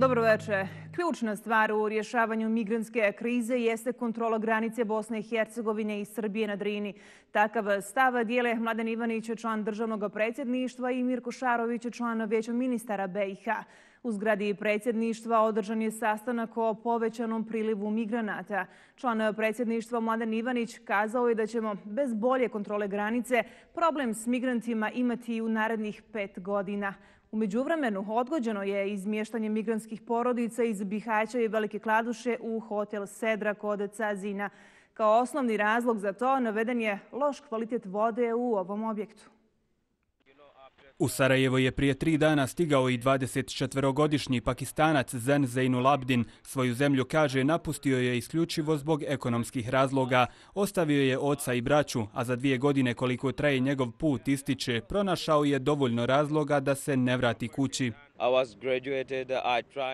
Dobro večer. Ključna stvar u rješavanju migrantske krize jeste kontrola granice Bosne i Hercegovine i Srbije na Drini. Takav stav dijele Mladen Ivanić, član državnog predsjedništva, i Mirko Šarović, član Vijeća ministara BiH. U zgradi predsjedništva održan je sastanak o povećanom prilivu migranata. Član predsjedništva Mladen Ivanić kazao je da ćemo bez bolje kontrole granice problem s migrantima imati i u narednih 5 godina. U međuvremenu odgođeno je izmještanje migrantskih porodica iz Bihaća i Velike Kladuše u hotel Sedra kod Cazina. Kao osnovni razlog za to naveden je loš kvalitet vode u ovom objektu. U Sarajevo je prije 3 dana stigao i 24-godišnji Pakistanac Zen Zainul Abidin. Svoju zemlju, kaže, napustio je isključivo zbog ekonomskih razloga. Ostavio je oca i braću, a za 2 godine koliko traje njegov put ističe, pronašao je dovoljno razloga da se ne vrati kući.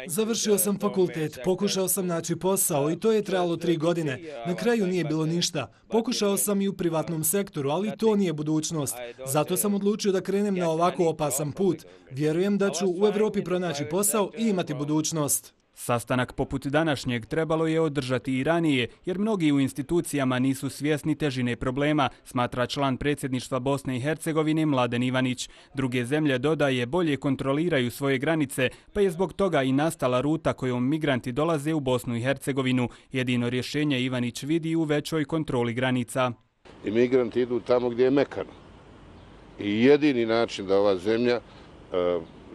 Završio sam fakultet, pokušao sam naći posao i to je trajalo 3 godine. Na kraju nije bilo ništa. Pokušao sam i u privatnom sektoru, ali to nije budućnost. Zato sam odlučio da krenem na ovako opasan put. Vjerujem da ću u Evropi pronaći posao i imati budućnost. Sastanak poput današnjeg trebalo je održati i ranije, jer mnogi u institucijama nisu svjesni težine problema, smatra član predsjedništva Bosne i Hercegovine Mladen Ivanić. Druge zemlje, dodaje, bolje kontroliraju svoje granice, pa je zbog toga i nastala ruta kojom migranti dolaze u Bosnu i Hercegovinu. Jedino rješenje Ivanić vidi u većoj kontroli granica. Imigranti idu tamo gdje je mekano. I jedini način da ova zemlja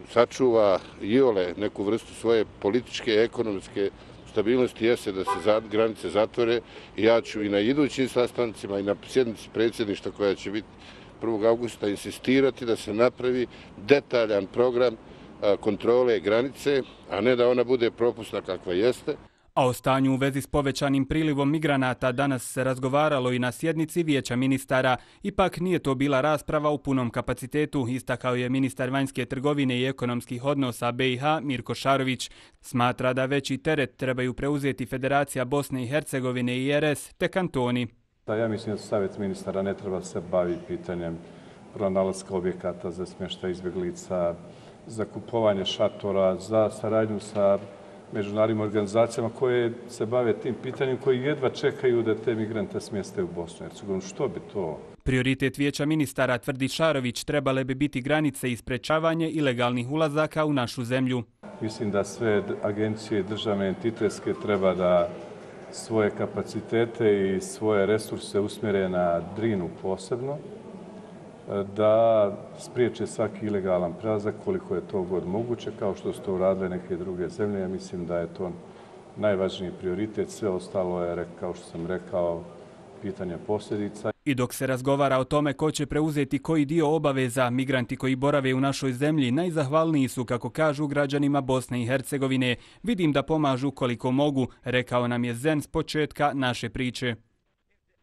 sačuva iole neku vrstu svoje političke, ekonomske stabilnosti jeste da se granice zatvore. I ja ću i na idućim sastancima i na sjednici predsjedništva koja će biti 1. augusta insistirati da se napravi detaljan program kontrole granice, a ne da ona bude propusna kakva jeste. A o stanju u vezi s povećanim prilivom migranata danas se razgovaralo i na sjednici Vijeća ministara. Ipak nije to bila rasprava u punom kapacitetu, istakao je ministar vanjske trgovine i ekonomskih odnosa BiH Mirko Šarović. Smatra da veći teret trebaju preuzeti Federacija Bosne i Hercegovine i RS te kantoni. Ja mislim da Savjet ministara ne treba se baviti pitanjem pronalaska objekata za smještaj izbjeglica, za kupovanje šatora, za saradnju sa međunarodnim organizacijama koje se bave tim pitanjem, koji jedva čekaju da te migrante smjeste u Bosnu i Hercegovinu. Što bi to? Prioritet Vijeća ministara, tvrdi Šarović, trebale bi biti granice i sprečavanje ilegalnih ulazaka u našu zemlju. Mislim da sve agencije državne entitetske treba da svoje kapacitete i svoje resurse usmjere na Drinu posebno, da spriječe svaki ilegalan prelazak koliko je to god moguće, kao što su to uradile neke druge zemlje. Ja mislim da je to najvažniji prioritet. Sve ostalo je, kao što sam rekao, pitanje posljedica. I dok se razgovara o tome ko će preuzeti koji dio obaveza, migranti koji borave u našoj zemlji najzahvalniji su, kako kažu, građanima Bosne i Hercegovine. Vidim da pomažu koliko mogu, rekao nam je Zen s početka naše priče.